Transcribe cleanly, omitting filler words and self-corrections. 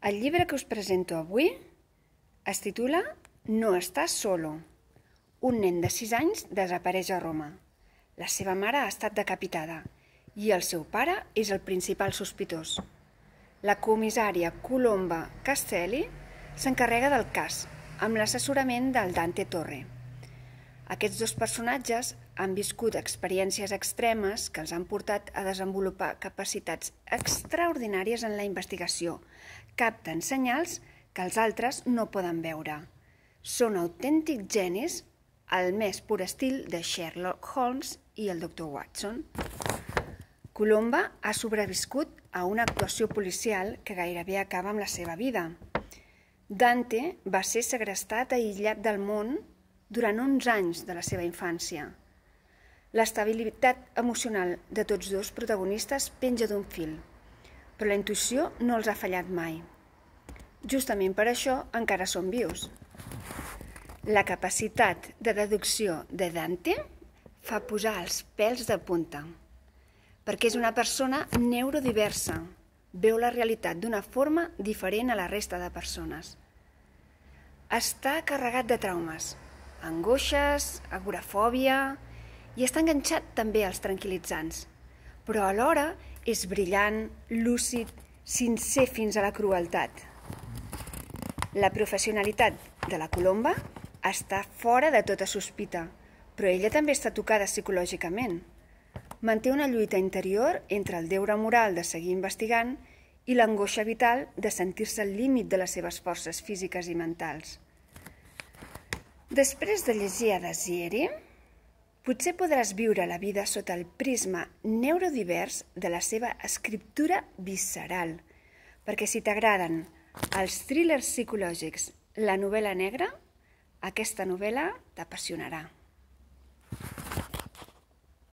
El llibre que us presento avui es titula No estàs solo. Un nen de 6 anys desapareix a Roma. La seva mare ha estat decapitada i el seu pare és el principal sospitós. La comissària Colomba Castelli s'encarrega del cas, amb l'assessorament del Dante Torre. Aquests dos personatges han viscut experiències extremes que els han portat a desenvolupar capacitats extraordinàries en la investigació. Capten senyals que els altres no poden veure. Són autèntics genis, al més pur estil de Sherlock Holmes i el Dr. Watson. Colomba ha sobreviscut a una actuació policial que gairebé acaba amb la seva vida. Dante va ser segrestat i aïllat del món durant 11 anys de la seva infància. L'estabilitat emocional de tots dos protagonistes penja d'un fil, però la intuïció no els ha fallat mai. Justament per això encara són vius. La capacitat de deducció de Dante fa posar els pèls de punta, perquè és una persona neurodiversa, veu la realitat d'una forma diferent a la resta de persones. Està carregat de traumes, angoixes, agorafòbia, i està enganxat també als tranquil·litzants, però alhora és brillant, lúcid, sincer fins a la crueltat. La professionalitat de la Colomba està fora de tota sospita, però ella també està tocada psicològicament. Manté una lluita interior entre el deure moral de seguir investigant i l'angoixa vital de sentir-se al límit de les seves forces físiques i mentals. Després de llegir a Dazieri, potser podràs viure la vida sota el prisma neurodivers de la seva escriptura visceral, perquè si t'agraden els thrillers psicològics, la novel·la negra, aquesta novel·la t'apassionarà.